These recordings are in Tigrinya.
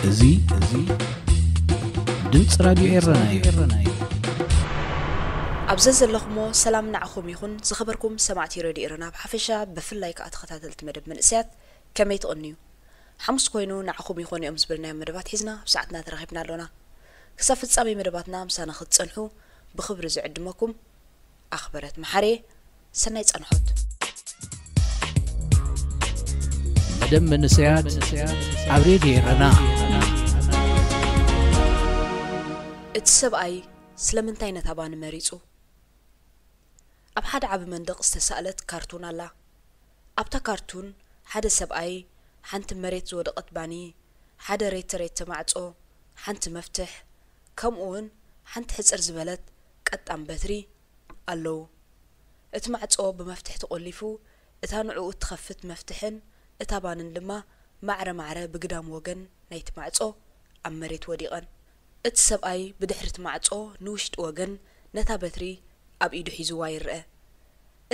እዚ እዚ ድምፂ ራድዮ ኤረና እዩ። ኣብ ዘዘለኹሞ ሰላም ንዓኹም ይኹን። ዝኸበርኩም ሰማዕቲ ሬድዮ ኤረና ብሓፈሻ፣ ብፍላይ ከኣ ተኸታተልቲ መደብ መንእሰያት፣ ከመይ ትቕንዩ? ሓሙስ ኮይኑ ንዓኹም ይኾኑ እዮም ዝበልናዮም መደባት ሒዝና ኣብ ሰዓትና ተራኺብና ኣሎና። ክሳብ ፍጻሜ መደባትና ምሳና ክትጸንሑ ብኽብሪ ዝዕድመኩም ኣኽበረት መሓሬ። ሰናይ ጸንሖት። መደብ መንእሰያት ኣብ ሬድዮ ኤረና። እቲ ሰብኣይ ስለምንታይ ነታ ባኒ መሪጹ? ኣብ ሓደ ዓቢ መንደቕ ዝተሳእለት ካርቱን ኣላ። ኣብታ ካርቱን ሓደ ሰብኣይ፣ ሓንቲ መሬት ዝወደቐት ባኒ፣ ሓደ ሬተ ሬተ ማዕጾ፣ ሓንቲ መፍትሕ፣ ከምኡ እውን ሓንቲ ሕጽር ዝበለት ቀጣን በትሪ ኣለዉ። እቲ ማዕጾ ብመፍትሕ ተቖሊፉ፣ እታ ንዕኡ እትኸፍት መፍትሕን እታ ባንን ድማ ማዕረ ማዕረ ብግዳም ወገን ናይቲ ማዕጾ ኣብ መሬት ወዲቐን። እቲ ሰብኣይ ብድሕሪ እቲ ማዕጾ ንውሽጢ ወገን ነታ በትሪ ኣብ ኢዱ ሒዝዋ ይርአ።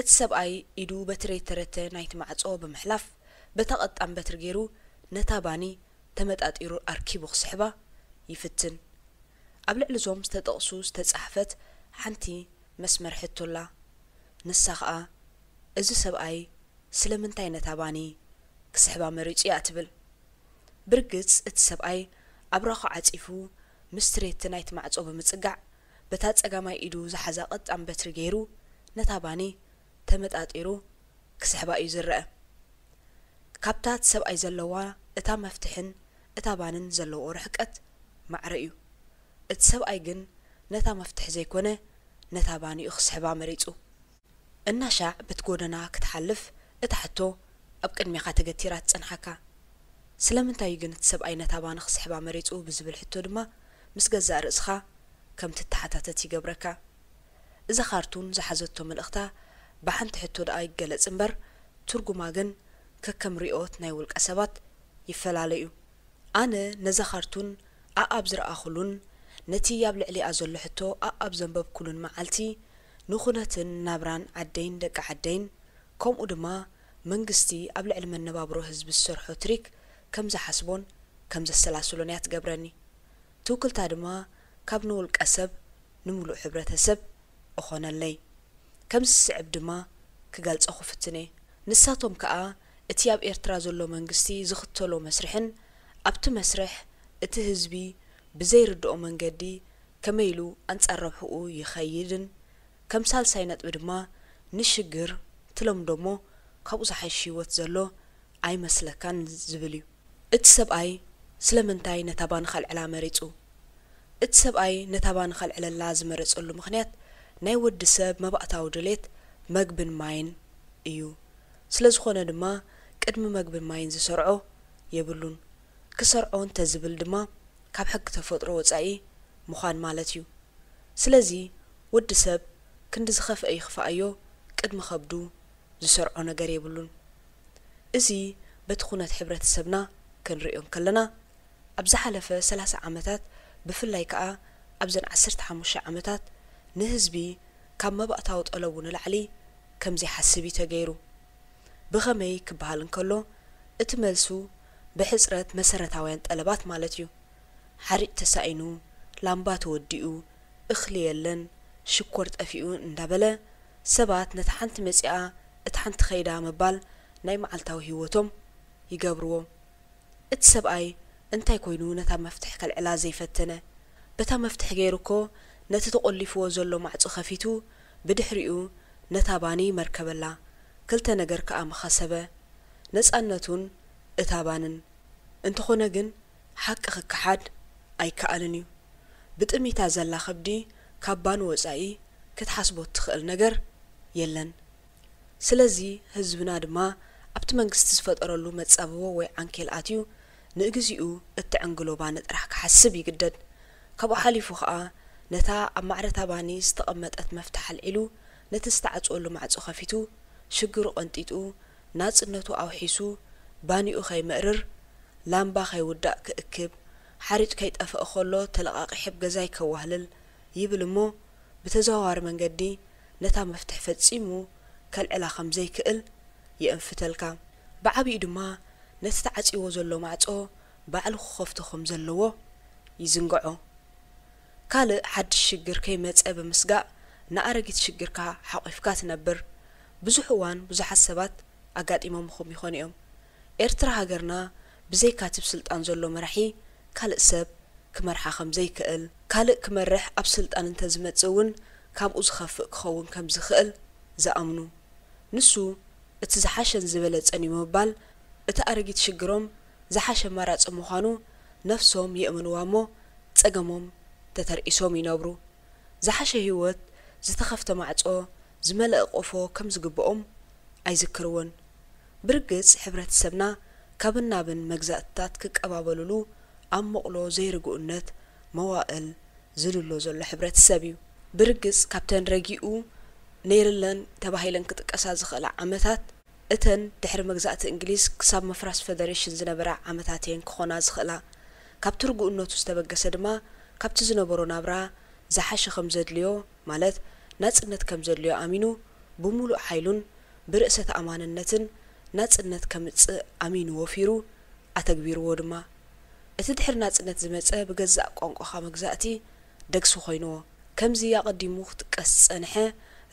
እቲ ሰብኣይ ኢዱ በቲ ሬተ ሬተ ናይቲ ማዕጾ ብምሕላፍ፣ በታ ቀጣን በትሪ ገይሩ ነታ ባኒ ተመጣጢሩ ኣርኪቡ ክስሕባ ይፍትን። ኣብ ልዕሊ እዞም ዝተጠቕሱ ዝተጻሕፈት ሓንቲ መስመር ሕቶ ኣላ። ንሳ ኸኣ፣ እዚ ሰብኣይ ስለምንታይ ነታ ባኒ ክስሕባ መሪጹ እያ ትብል። ብርግጽ እቲ ሰብኣይ ኣብራኹ ዓጺፉ ምስቲ ሬተ ናይቲ ማዕጾ ብምጽጋዕ፣ በታ ጸጋማይ ኢዱ ዝሓዛ ቀጣን በትሪ ገይሩ ነታ ባኒ ተመጣጢሩ ክስሕባ እዩ ዝረኣ። ካብታ እቲ ሰብኣይ ዘለዋ እታ መፍትሕን እታ ባንን ዘለዎ ርሕቀት ማዕረ እዩ። እቲ ሰብኣይ ግን ነታ መፍትሕ ዘይኮነ ነታ ባኒ እዩ ክስሕባ መሪጹ። እናሻዕ በቲ ጎደና ክትሓልፍ እታ ሕቶ ኣብ ቅድሜኻ ተገቲራ ትጸንሓካ። ስለምንታይ እዩ ግን እቲ ሰብኣይ ነታ ባኒ ክስሕባ መሪጹ ብዝብል ሕቶ ድማ ምስ ገዛእ ርእስኻ ከም ትተሓታተት ይገብረካ። እዛ ካርቱን ዝሓዘቶ መልእኽታ ብሓንቲ ሕቶ ደኣ ይገለጽ እምበር ትርጉማ ግን ከከም ርኢኦት ናይ ውልቀ ሰባት ይፈላለ እዩ። ኣነ ነዛ ካርቱን ኣኣብ ዝረኣኹሉን ነቲ ኣብ ልዕሊኣ ዘሎ ሕቶ ኣኣብ ዘንበብኩሉን መዓልቲ ንኹነትን ናብራን ዓደይን ደቂ ዓደይን ከምኡ ድማ መንግስቲ ኣብ ልዕሊ መነባብሮ ህዝቢ ዝሰርሖ ትሪክ ከም ዝሓስቦን ከም ዘሰላስሎን እያ ትገብረኒ። ትውክልታ ድማ ካብ ንውልቀ ሰብ ንሙሉእ ሕብረተሰብ እኾነለይ። ከምዚ ዝስዕብ ድማ ክገልጾ ክፍትን እየ። ንሳቶም ከኣ እቲ ኣብ ኤርትራ ዘሎ መንግስቲ ዝኽተሎ መስርሕን ኣብቲ መስርሕ እቲ ህዝቢ ብዘይርድኦ መንገዲ ከመይ ኢሉ ኣንጻር ረብሕኡ ይኸይድን ከም ሳልሳይ ነጥቢ ድማ ንሽግር ትለምዶ እሞ ካብኡ ዝሓይሽ ህይወት ዘሎ ኣይመስለካን ዝብል እዩ። እቲ ሰብኣይ ስለምንታይ ነታ ባኒ ከልዕላ መሪጹ? እቲ ሰብኣይ ነታ ባኒ ከልዕለላ ዝመረጸሉ ምኽንያት ናይ ወዲ ሰብ መባእታዊ ድሌት መግብን ማይን እዩ። ስለ ዝኾነ ድማ ቅድሚ መግብን ማይን ዝሰርዖ የብሉን። ክሰርዖ እንተዝብል ድማ ካብ ሕጊ ተፈጥሮ ወጻኢ ምዃን ማለት እዩ። ስለዚ ወዲ ሰብ ክንዲ ዝኸፍአ ይኽፍኣዮ ቅድሚ ከብዱ ዝሰርዖ ነገር የብሉን። እዚ በቲ ኩነት ሕብረተሰብና ክንርእዮ እንከለና ኣብ ዝሓለፈ ሰላሳ ዓመታት ብፍላይ ከኣ ኣብዘን ዓሰርተ ሓሙሽተ ዓመታት ንህዝቢ ካብ መባእታዊ ጠለቡ ንላዕሊ ከም ዘይሓስብ እዩ ተገይሩ። ብኸመይ ክበሃል እንከሎ እቲ መልሱ ብሕጽረት መሰረታውያን ጠለባት ማለት እዩ። ሓሪጭ ተሳኢኑ፣ ላምባ ተወዲኡ፣ እኽሊ የለን፣ ሽኮር ጠፊኡ እንዳበለ ሰባት ነታ ሓንቲ መጺኣ እታ ሓንቲ ከይዳ ምባል ናይ መዓልታዊ ህይወቶም ይገብርዎ። እቲ ሰብኣይ እንታይ ኮይኑ ነታ መፍትሕ ከልዕላ ዘይፈተነ? በታ መፍትሕ ገይሩ እኮ ነቲ ተቖሊፍዎ ዘሎ ማዕጾ ከፊቱ ብድሕሪኡ ነታ ባኒ መርከበላ። ክልተ ነገር ከኣ ምኸሰበ፣ ነጻነቱን እታ ባንን። እንተኾነ ግን ሓቂ ክከሓድ ኣይከኣልን እዩ። ብጥሚታ ዘላ ከብዲ ካብ ባኒ ወጻኢ ክትሓስቦ እትኽእል ነገር የለን። ስለዚ ህዝብና ድማ ኣብቲ መንግስቲ ዝፈጠረሉ መጻብቦ ወይ ዓንኬል ኣትዩ ንእግዚኡ እትዕንግሎ ባኒ ጥራሕ ክሓስብ ይግደድ። ካብኡ ሓሊፉ ኸኣ ነታ ኣብ ማዕረታ ባኒ ዝተቐመጠት መፍትሕ ኣልዒሉ ነቲ ዝተዓጽወሉ ማዕጾ ከፊቱ ሽግሩ ቀንጢጡ ናጽነቱ ኣውሒሱ ባኒኡ ከይመእርር ላምባ ከይውዳእ ክእክብ ሓሪጭ ከይጠፍእ ከሎ ተለቓቒሐ ብ ገዛይ ከዋህልል ይብል እሞ ብተዘዋዋሪ መንገዲ ነታ መፍትሕ ፈጺሙ ከልዕላ ከም ዘይክእል የእንፍተልካ። ብዓቢኡ ድማ ነቲ ተዓጺዎ ዘሎ ማዕጾ ባዕሉ ክኸፍቶ ከም ዘለዎ ይዝንግዖ። ካልእ ሓድሽ ሽግር ከይመጸ ብምስጋእ ንኣረጊት ሽግርካ ሓቒፍካ ትነብር። ብዙሕ እዋን ብዙሓት ሰባት ኣጋጢሞምኹም ይኾኑ እዮም። ኤርትራ ሃገርና ብዘይካቲ ብስልጣን ዘሎ መራሒ ካልእ ሰብ ክመርሓ ከም ዘይክእል፣ ካልእ ክመርሕ ኣብ ስልጣን እንተዝመጽእ እውን ካብኡ ዝኸፍእ ክኸውን ከም ዝኽእል ዝኣምኑ። ንሱ እቲ ዝሓሸን ዝበለጸን እዩ ምባል እቲ ኣረጊት ሽግሮም ዝሓሸ ኣማራጺ ምዃኑ ነፍሶም የእምንዋ እሞ ጸገሞም ተተርኢሶም ይነብሩ። ዝሓሸ ህይወት፣ ዝተኸፍተ ማዕጾ፣ ዝመልአ ቆፎ ከም ዝግብኦም ኣይዝክርዎን። ብርግጽ ሕብረተሰብና ካብን ናብን መግዛእትታት ክቀባበሉሉ ኣብ መቕሎ ዘይርግኡነት መዋእል ዝልሎ ዘሎ ሕብረተሰብ እዩ። ብርግጽ ካብተን ረጊኡ ነይርለን ተባሂለን ክጥቀሳ ዝኽእላ ዓመታት እተን ድሕሪ መግዛእቲ እንግሊዝ ክሳብ ምፍራስ ፈደሬሽን ዝነበራ ዓመታት እየን ክኾና ዝኽእላ። ካብቲ ርጉእነቱ ዝተበገሰ ድማ ካብቲ ዝነበሮ ናብራ ዝሓሸ ከም ዘድልዮ፣ ማለት ናጽነት ከም ዘድልዮ ኣሚኑ ብምሉእ ሓይሉን ብርእሰ ተኣማንነትን ናጽነት ከምጽእ ኣሚኑ ወፊሩ ኣተግቢርዎ ድማ። እቲ ድሕሪ ናጽነት ዝመጸ ብገዛእ ቋንቋኻ መግዛእቲ ደግሲ ኮይንዎ። ከምዚ ኣቐዲሙ ክጥቀስ ዝጸንሐ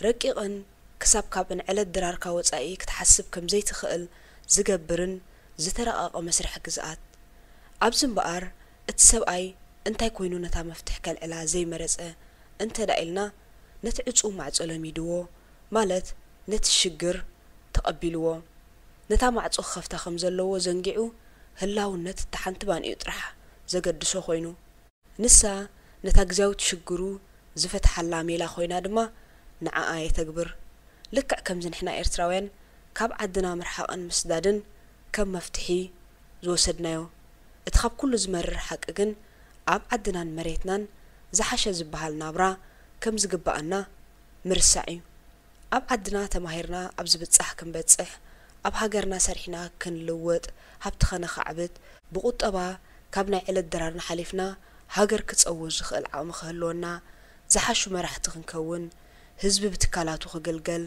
ረቂቕን ክሳብ ካብ ዕለት ድራርካ ወጻኢ ክትሓስብ ከም ዘይትኽእል ዝገብርን ዝተረቐቐ መስርሕ ግዝኣት። ኣብዚ እምበኣር እቲ ሰብኣይ እንታይ ኮይኑ ነታ መፍትሕ ከልዕላ ዘይመረጸ እንተ ደኣ ኢልና፣ ነቲ ዕጹው ማዕጾ ለሚድዎ፣ ማለት ነቲ ሽግር ተቐቢልዎ። ነታ ማዕጾ ክኸፍታ ከም ዘለዎ ዘንጊዑ ህላውነት እታ ሓንቲ ባንኡ ጥራሕ ዘገድሶ ኮይኑ። ንሳ ነታ ግዝያዊት ሽግሩ ዝፈትሓላ ሜላ ኮይና ድማ ንዓኣ የተግብር። ልክዕ ከምዚ ንሕና ኤርትራውያን ካብ ዓድና ምርሓቕን ምስዳድን ከም መፍትሒ ዝወሰድናዮ። እቲ ካብ ኩሉ ዝመርር ሓቂ ግን ኣብ ዓድናን መሬትናን ዝሓሸ ዝበሃል ናብራ ከም ዝግብኣና ምርሳዕ እዩ። ኣብ ዓድና ተማሂርና ኣብ ዝብጻሕ ክንበጽሕ፣ ኣብ ሃገርና ሰሪሕና ክንልወጥ፣ ሃብቲ ከነኻዕብት፣ ብቁጠባ ካብ ናይ ዕለት ድራርና ሓሊፍና ሃገር ክጸውር ዝኽእል ዓቕሚ ክህልወና፣ ዝሓሹ መራሕቲ ክንከውን፣ ህዝቢ ብትካላቱ ክግልገል፣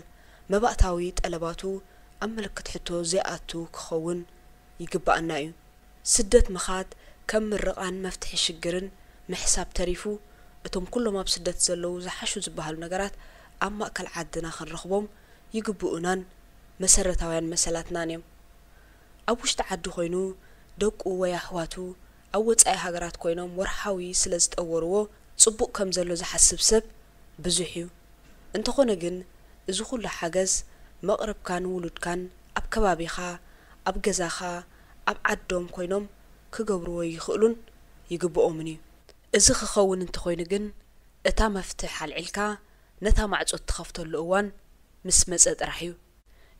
መባእታዊ ጠለባቱ ኣብ ምልክት ሕቶ ዘይኣቱ ክኸውን ይግብኣና እዩ። ስደት ምኻድ ከም ምርቓን መፍትሒ ሽግርን ምሕሳብ ተሪፉ፣ እቶም ኩሎም ኣብ ስደት ዘለዉ ዝሓሹ ዝበሃሉ ነገራት ኣብ ማእከል ዓድና ክንረኽቦም ይግብኡናን መሰረታውያን መሰላትናን እዮም። ኣብ ውሽጢ ዓዲ ኮይኑ ደቁ ወይ ኣሕዋቱ ኣብ ወጻኢ ሃገራት ኮይኖም ወርሓዊ ስለ ዝጠወርዎ ጽቡቕ ከም ዘሎ ዝሓስብ ሰብ ብዙሕ እዩ። እንተኾነ ግን፣ እዚ ኩሉ ሓገዝ መቕርብካን ውሉድካን ኣብ ከባቢኻ፣ ኣብ ገዛኻ፣ ኣብ ዓዶም ኮይኖም ክገብርዎ ይኽእሉን ይግብኦምን እዩ። እዚ ክኸውን እንተኾይኑ ግን፣ እታ መፍትሕ ኣልዒልካ ነታ ማዕጾ እትኸፍተሉ እዋን ምስ መጸ ጥራሕ እዩ።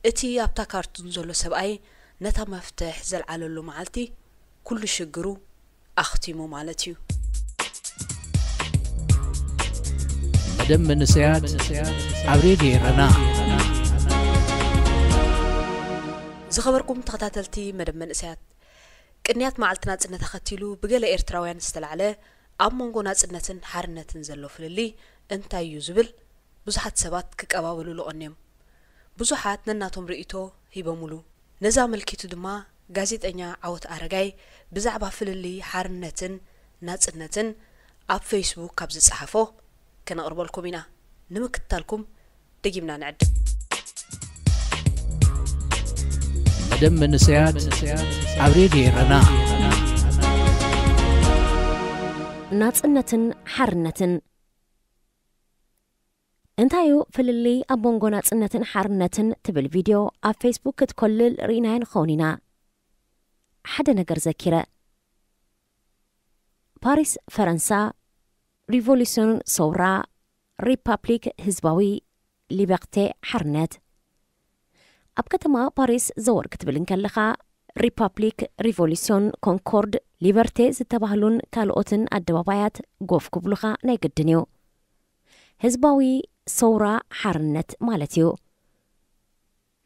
እቲ ኣብታ ካርቱን ዘሎ ሰብኣይ ነታ መፍትሕ ዘልዓለሉ መዓልቲ፣ ኩሉ ሽግሩ ኣኽቲሙ ማለት እዩ። መደብ መንእሰያት ኣብ ሬድዮ ኤረና። ዝኸበርኩም ተኸታተልቲ መደብ መንእሰያት፣ ቅንያት መዓልቲ ናጽነት ኣኸቲሉ ብገለ ኤርትራውያን ዝተላዕለ ኣብ መንጎ ናጽነትን ሓርነትን ዘሎ ፍልልይ እንታይ እዩ ዝብል ብዙሓት ሰባት ክቀባበሉሉ ቀንዮም። ብዙሓት ነናቶም ርእይቶ ሂቦምሉ። ነዚ ኣመልኪቱ ድማ ጋዜጠኛ ዓወት ኣረጋይ ብዛዕባ ፍልልይ ሓርነትን ናጽነትን ኣብ ፌስቡክ ካብ ዝጸሓፎ ከነቕርበልኩም ኢና። ንምክትታልኩም ደጊምና ንዕድም። መደብ መንእሰያት ኣብ ሬድዮ ኤረና። ናጽነትን ሓርነትን። እንታይ እዩ ፍልልይ ኣብ መንጎ ናጽነትን ሓርነትን ትብል ቪድዮ ኣብ ፌስቡክ ክትኮልል ርኢናያ ንኸውን ኢና። ሓደ ነገር ዘኪረ። ፓሪስ ፈረንሳ፣ ሪቮሉስዮን ሰውራ፣ ሪፓብሊክ ህዝባዊ፣ ሊበርቴ ሓርነት። ኣብ ከተማ ፓሪስ ዘወር ክትብል እንከለኻ፣ ሪፓብሊክ፣ ሪቮሉስዮን፣ ኮንኮርድ፣ ሊበርቴ ዝተባህሉን ካልኦትን ኣደባባያት ጎፍ ክብሉኻ ናይ ግድን እዩ። ህዝባዊ ሰውራ ሓርነት ማለት እዩ።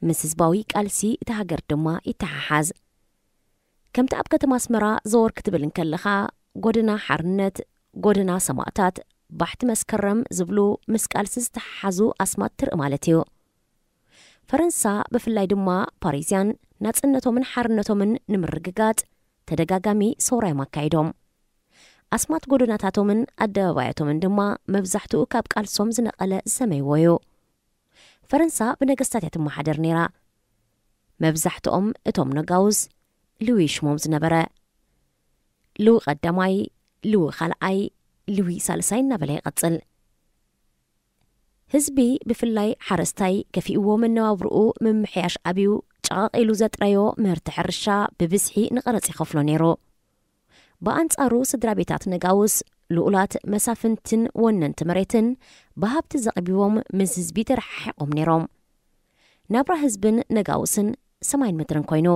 ምስ ህዝባዊ ቃልሲ እታ ሃገር ድማ ይተሓሓዝ። ከምቲ ኣብ ከተማ ኣስመራ ዘወር ክትብል እንከለኻ፣ ጎደና ሓርነት፣ ጎደና ሰማእታት፣ ባሕቲ መስከረም ዝብሉ ምስ ቃልሲ ዝተሓሓዙ ኣስማት ትርኢ ማለት እዩ። ፈረንሳ፣ ብፍላይ ድማ ፓሪዝያን፣ ናጽነቶምን ሓርነቶምን ንምርግጋጽ ተደጋጋሚ ሰውራ እዮም ኣካይዶም። ኣስማት ጎደናታቶምን ኣደባባያቶምን ድማ መብዛሕትኡ ካብ ቃልሶም ዝነቐለ ዝሰመይዎ እዩ። ፈረንሳ ብነገስታት እያ ትመሓደር ነይራ። መብዛሕትኦም እቶም ነጋውስ ልዊ ሽሞም ዝነበረ፣ ልዊ ቀዳማይ፣ ልዊ ካልኣይ፣ ልዊ ሳልሳይ እናበለ ይቐጽል። ህዝቢ ብፍላይ ሓረስታይ ከፊእዎ መነባብርኡ ምምሕያሽ ኣብዩ ጨቓቒሉ ዘጥረዮ ምህርቲ ሕርሻ ብብዝሒ ንቐረጽ ይኸፍሎ ነይሩ። ብኣንጻሩ ስድራ ቤታት ነጋውስ ልኡላት መሳፍንትን ወነንቲ መሬትን ብሃብቲ ዘቕቢቦም ምስ ህዝቢ ተረሓሒቖም ነይሮም። ናብራ ህዝብን ነጋውስን ሰማይን ምድርን ኮይኑ፣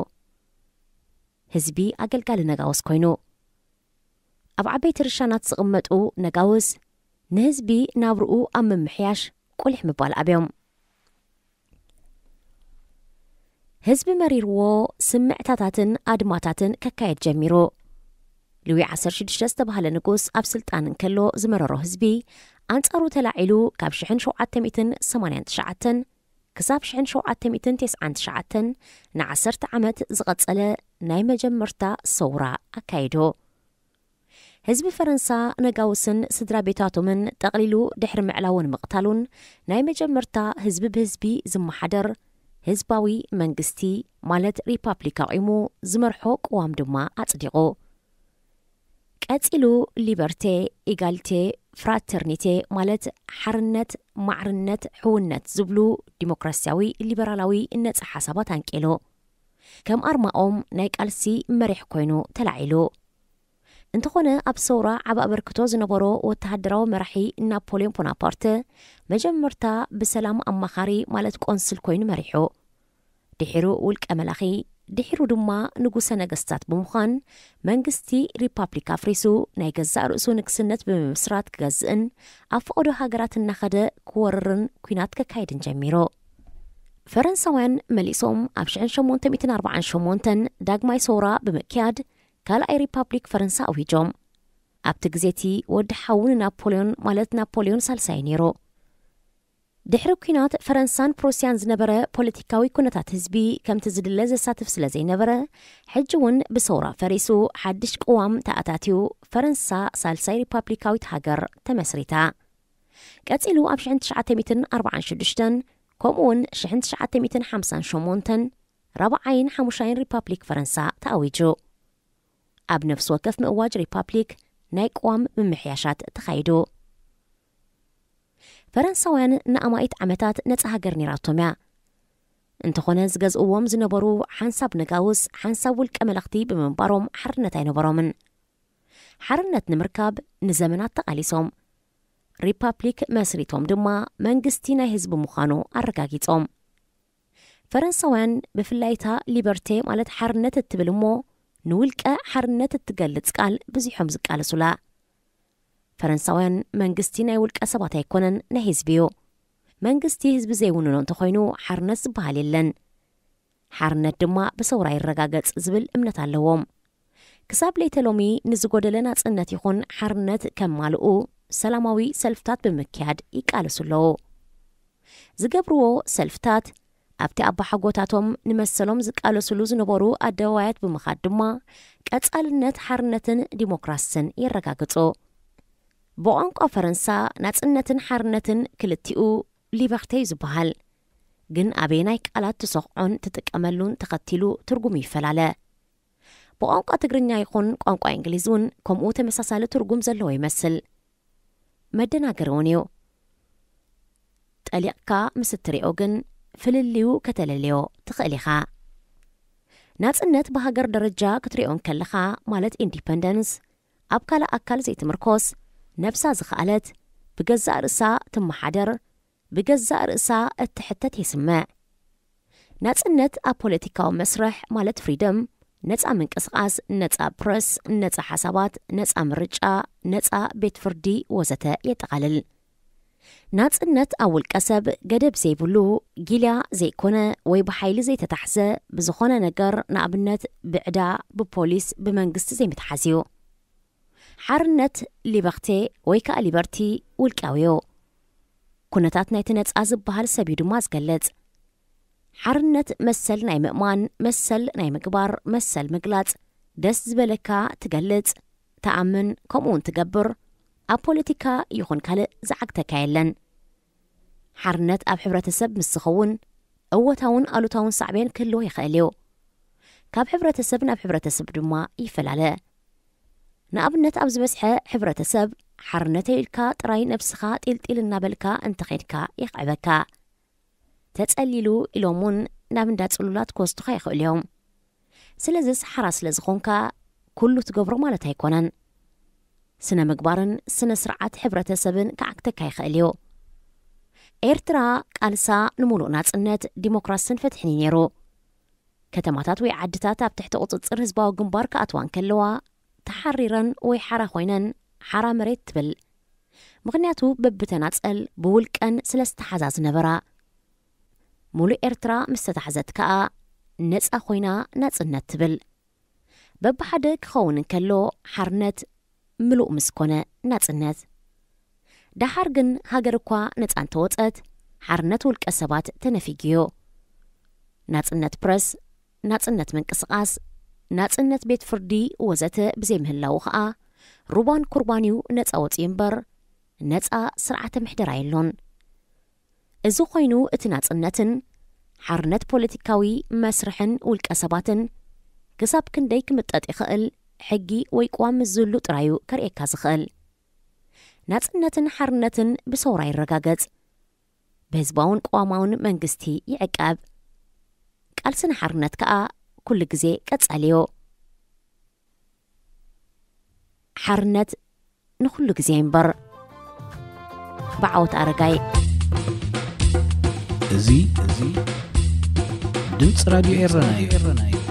ህዝቢ ኣገልጋሊ ነጋውስ ኮይኑ፣ ኣብ ዓበይቲ ርሻናት ዝቕመጡ ነጋውስ ንህዝቢ ናብርኡ ኣብ ምምሕያሽ ቁሊሕ ምባል ኣብዮም። ህዝቢ መሪርዎ ስምዕታታትን ኣድማታትን ከካየድ ጀሚሩ። ልዊ ዓሰርተ ሽዱሽተ ዝተባህለ ንጉስ ኣብ ስልጣን እንከሎ ዝመረሮ ህዝቢ ኣንጻሩ ተላዒሉ ካብ ሽሕን ሸውዓተ ሚእትን ሰማንያን ትሽዓተን ክሳብ ሽሕን ሸውዓተ ሚእትን ተስዓን ትሽዓተን ንዓሰርተ ዓመት ዝቐጸለ ናይ መጀመርታ ሰውራ ኣካይዱ። ህዝቢ ፈረንሳ ነጋውስን ስድራ ቤታቶምን ጠቕሊሉ ድሕሪ ምዕላውን ምቕታሉን ናይ መጀመርታ ህዝቢ ብህዝቢ ዝመሓደር ህዝባዊ መንግስቲ ማለት ሪፓብሊክ ኣቑሙ ዝመርሖ ቅዋም ድማ ኣጽዲቑ። ቀጺሉ ሊበርቴ፣ ኢጋልቴ፣ ፍራተርኒቴ ማለት ሓርነት፣ ማዕርነት፣ ሕውነት ዝብሉ ዲሞክራሲያዊ ሊበራላዊ ነጻ ሓሳባት ኣንቂሉ። ከም ኣርማኦም ናይ ቃልሲ መሪሕ ኮይኑ ተላዒሉ። እንተኾነ ኣብ ሰውራ ዓቢ ኣበርክቶ ዝነበሮ ወተሃደራዊ መራሒ ናፖልዮን ቦናፓርተ መጀመርታ ብሰላም ኣማኻሪ ማለት ቆንስል ኮይኑ መሪሑ። ድሒሩ ውልቀ መላኺ፣ ድሒሩ ድማ ንጉሰ ነገስታት ብምዃን መንግስቲ ሪፓብሊክ ኣፍሪሱ ናይ ገዛእ ርእሱ ንግስነት ብምምስራት ክገዝእን ኣብ ፈቐዶ ሃገራት እናኸደ ክወርርን ኲናት ከካይድን ጀሚሩ። ፈረንሳውያን መሊሶም ኣብ ሽሕን ሸሞንተ ሚእትን ኣርባዓን ሸሞንተን ዳግማይ ሰውራ ብምክያድ ካልኣይ ሪፓብሊክ ፈረንሳ ኣዊጆም። ኣብቲ ግዜ እቲ ወዲ ሓዉ ንናፖልዮን ማለት ናፖልዮን ሳልሳይ ነይሩ። ድሕሪ ኲናት ፈረንሳን ፕሩስያን ዝነበረ ፖለቲካዊ ኩነታት ህዝቢ ከምቲ ዝድለ ዘሳትፍ ስለ ዘይነበረ፣ ሕጂ እውን ብሰውራ ፈሪሱ ሓድሽ ቅዋም ተኣታትዩ ፈረንሳ ሳልሳይ ሪፓብሊካዊት ሃገር ተመስሪታ። ቀጺሉ ኣብ ሽሕን ትሽዓተ ሚእትን ኣርባዓን ሽዱሽተን ከምኡ እውን ሽሕን ትሽዓተ ሚእትን ሓምሳን ሸሞንተን ራብዓይን ሓሙሻይን ሪፓብሊክ ፈረንሳ ተኣዊጁ። ኣብ ነፍሲ ወከፍ ምእዋጅ ሪፓብሊክ ናይ ቅዋም ምምሕያሻት ተኻይዱ። ፈረንሳውያን ንኣማኢት ዓመታት ነጻ ሃገር ነይራቶም እያ። እንተኾነ ዝገዝእዎም ዝነበሩ ሓንሳብ ነጋውስ ሓንሳብ ውልቀ መለኽቲ ብምንባሮም ሓርነት ኣይነበሮምን። ሓርነት ንምርካብ ንዘመናት ተቓሊሶም። ሪፓብሊክ መስሪቶም ድማ መንግስቲ ናይ ህዝቢ ምዃኑ ኣረጋጊጾም። ፈረንሳውያን ብፍላይ እታ ሊበርቴ ማለት ሓርነት እትብል እሞ ንውልቀ ሓርነት እትገልጽ ቃል ብዚሖም ዝቃለሱላ። ፈረንሳውያን መንግስቲ ናይ ውልቀ ሰባት ኣይኮነን ናይ ህዝቢ እዩ። መንግስቲ ህዝቢ ዘይውንኖ እንተኾይኑ ሓርነት ዝበሃል የለን። ሓርነት ድማ ብሰውራ ይረጋገጽ ዝብል እምነት ኣለዎም። ክሳብ ለይተ ሎሚ ንዝጎደለ ናጽነት ይኹን ሓርነት ከማልኡ ሰላማዊ ሰልፍታት ብምክያድ ይቃለሱ ኣለዉ። ዝገብርዎ ሰልፍታት ኣብቲ ኣባሓጎታቶም ንመሰሎም ዝቃለሱሉ ዝነበሩ ኣደባባያት ብምኻድ ድማ ቀጻልነት ሓርነትን ዲሞክራስን የረጋግጹ። ብቋንቋ ፈረንሳ ናጽነትን ሓርነትን ክልቲኡ ሊበርቴ እዩ ዝበሃል። ግን ኣበየናይ ቃላት ትሰኽዖን ትጥቀመሉን ተኸቲሉ ትርጉሙ ይፈላለ። ብቋንቋ ትግርኛ ይኹን ቋንቋ እንግሊዝ እውን ከምኡ ተመሳሳሊ ትርጉም ዘለዎ ይመስል። መደናገሪ እውን እዩ። ጠሊቕካ ምስ እትሪኦ ግን ፍልልዩ ከተለልዮ ትኽእል ኢኻ። ናጽነት ብሃገር ደረጃ ክትሪኦ እንከለኻ ማለት ኢንዲፐንደንስ ኣብ ካልእ ኣካል ዘይትምርኮስ፣ ነብሳ ዝኸኣለት፣ ብገዛእ ርእሳ ትመሓደር፣ ብገዛእ ርእሳ እትሕተት የስምዕ። ናጽነት ኣብ ፖለቲካዊ መስርሕ ማለት ፍሪደም፣ ነጻ ምንቅስቓስ፣ ነጻ ፕረስ፣ ነጻ ሓሳባት፣ ነጻ ምርጫ፣ ነጻ ቤት ፍርዲ ወዘተ የጠቓልል። ናጽነት ኣብ ውልቀ ሰብ ገደብ ዘይብሉ፣ ጊልያ ዘይኮነ ወይ ብሓይሊ ዘይተታሕዘ ብዝኾነ ነገር ንኣብነት ብዕዳ፣ ብፖሊስ፣ ብመንግስቲ ዘይምትሓዝ እዩ። ሓርነት ሊበኽቴ ወይ ከኣ ሊበርቲ ውልቃዊ እዩ። ኩነታት ናይቲ ነጻ ዝበሃል ሰብ እዩ ድማ ዝገልጽ። ሓርነት መሰል ናይ ምእማን፣ መሰል ናይ ምግባር፣ መሰል ምግላጽ፣ ደስ ዝበለካ ትገልጽ፣ ትኣምን፣ ከምኡ እውን ትገብር፣ ኣብ ፖለቲካ ይኹን ካልእ ዝዓግተካ የለን። ሓርነት ኣብ ሕብረተሰብ ምስ ዝኸውን እወታውን ኣሉታውን ሳዕቤን ክህልዎ ይኽእል እዩ። ካብ ሕብረተሰብ ናብ ሕብረተሰብ ድማ ይፈላለ። ንኣብነት ኣብ ዝበዝሐ ሕብረተሰብ ሓርነተይ ኢልካ ጥራይ ነብስኻ ጢልጢል እናበልካ እንተኸድካ የኽዕበካ። ተጸሊሉ ኢሎም እውን ናብ እንዳ ጽሉላት ክወስዱኻ ይኽእሉ እዮም። ስለዚስ ሓራ ስለ ዝኾንካ ኩሉ ትገብሮ ማለት ኣይኮነን። ስነ ምግባርን ስነ ስርዓት ሕብረተሰብን ክዓግተካ ይኽእል እዩ። ኤርትራ ቃልሳ ንምሉእ ናጽነት፣ ዲሞክራስን ፍትሕን እዩ ነይሩ። ከተማታት ወይ ዓድታት ኣብ ትሕቲ ቁጽጽር ህዝባዊ ግንባር ክኣትዋ እንከለዋ ተሓሪረን ወይ ሓራ ኮይነን ሓራ መሬት ትብል። ምኽንያቱ በብተናጸል ብውልቀን ስለ ዝተሓዛ ዝነበራ። ሙሉእ ኤርትራ ምስ ተታሕዘት ከኣ ነጻ ኮይና ናጽነት ትብል። በብሓደ ክኸውን እንከሎ ሓርነት ምሉእ ምስ ኮነ ናጽነት። ደሓር ግን ሃገር እኳ ነጻ እንተወጸት ሓርነት ውልቀ ሰባት ተነፊጉዮ። ናጽነት ፕረስ፣ ናጽነት ምንቅስቓስ፣ ናጽነት ቤት ፍርዲ ወዘተ ብዘይምህላዉ ኸኣ ሩባን ኩርባንዩ ነጻ ወጺኡ እምበር ነጻ ስርዓተ ምሕደራ የሎን። እዚ ኮይኑ እቲ ናጽነትን ሓርነት ፖለቲካዊ መስርሕን ውልቀ ሰባትን ክሳብ ክንደይ ክምጠጥ ይኽእል ሕጊ ወይ ቅዋም ምስ ዝህሉ ጥራዩ ከርእየካ ዝኽእል። ናጽነትን ሓርነትን ብሰውራ ይረጋገጽ። ብህዝባውን ቅዋማውን መንግስቲ ይዕቀብ። ቃልሲ ንሓርነት ከኣ ኩሉ ግዜ ቀጻሊ እዩ። ሓርነት ንኹሉ ግዜ እምበር። ብዓወት ኣረጋይ። እዚ እዚ ድምፂ ራድዮ ኤረና እዩ።